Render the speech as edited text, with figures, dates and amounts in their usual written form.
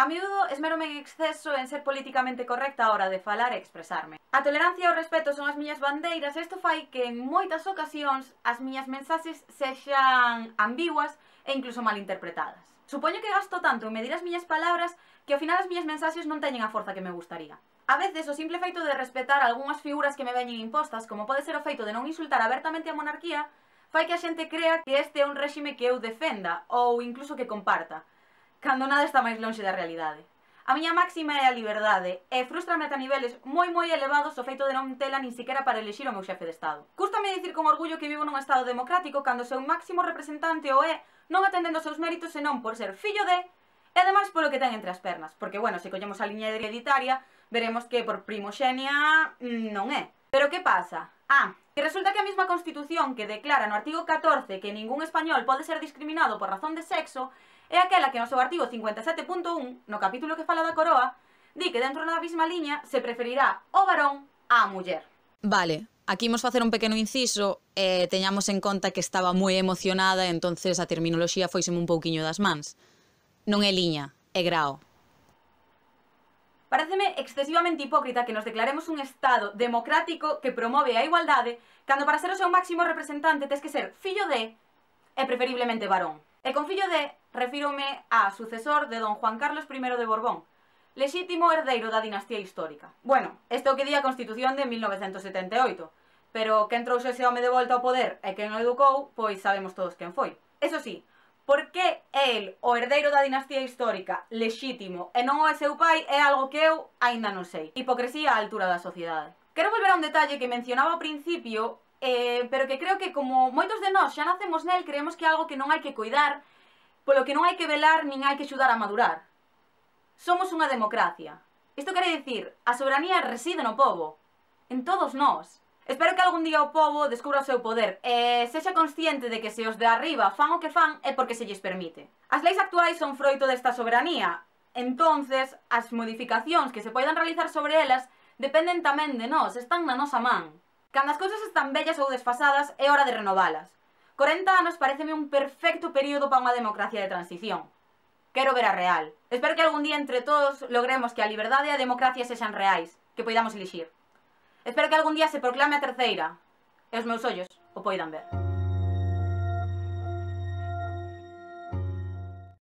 A miúdo esmérome en exceso en ser políticamente correcta a hora de falar e expresarme. A tolerancia e o respeto son as miñas bandeiras e isto fai que en moitas ocasións as miñas mensaxes sexan ambiguas e incluso malinterpretadas. Supoño que gasto tanto en medir as miñas palabras que ao final as miñas mensaxes non teñen a forza que me gustaría. A veces o simple feito de respetar algunhas figuras que me veñen impostas, como pode ser o feito de non insultar abertamente a monarquía, fai que a xente crea que este é un réxime que eu defenda ou incluso que comparta, cando nada está máis lonxe da realidade. A miña máxima é a liberdade, e frustrame ata niveles moi elevados o feito de non tela nin siquiera para elexir o meu xefe de Estado. Cústame dicir con orgullo que vivo nun Estado democrático cando o seu máximo representante o é non atendendo os seus méritos senón por ser fillo de, e ademais polo que ten entre as pernas, porque, bueno, se collemos a liña hereditaria, veremos que por primoxenia non é. Pero que pasa? Que resulta que a mesma Constitución que declara no artigo 14 que ningún español pode ser discriminado por razón de sexo é aquela que no seu artigo 57.1, no capítulo que fala da coroa, di que dentro da mesma liña se preferirá o varón á muller. Vale, aquí imos facer un pequeno inciso e teñamos en conta que estaba moi emocionada e entonces a terminoloxía foiseme un pouquiño das mans. Non é liña, é grao. Paréceme excesivamente hipócrita que nos declaremos un Estado democrático que promove a igualdade cando para ser o seu máximo representante tes que ser fillo de e preferiblemente varón. E con fillo de refírome a sucesor de don Juan Carlos I de Borbón, lexítimo herdeiro da dinastía histórica. Bueno, este é o que di a Constitución de 1978, pero quen trouxe ese home de volta ao poder e quen o educou, pois sabemos todos quen foi. Eso sí, por que el, o herdeiro da dinastía histórica, lexítimo, e non o é seu pai, é algo que eu aínda non sei. Hipocresía á altura da sociedade. Quero volver a un detalle que mencionaba ao principio, pero que creo que como moitos de nós xa nacemos nel, creemos que é algo que non hai que coidar, polo que non hai que velar nin hai que axudar a madurar. Somos unha democracia. Isto quere dicir, a soberanía reside no pobo, en todos nós. Espero que algún día o pobo descubra o seu poder e sexa consciente de que se os de arriba fan o que fan é porque se lles permite. As leis actuais son froito desta soberanía, entonces as modificacións que se poidan realizar sobre elas dependen tamén de nós, están na nosa man. Cando as cousas están vellas ou desfasadas é hora de renovalas. 40 anos pareceme un perfecto período para unha democracia de transición. Quero ver a real. Espero que algún día entre todos logremos que a liberdade e a democracia sexan reais, que poidamos elixir. Espero que algún día se proclame a terceira, e os meus ollos o poidan ver.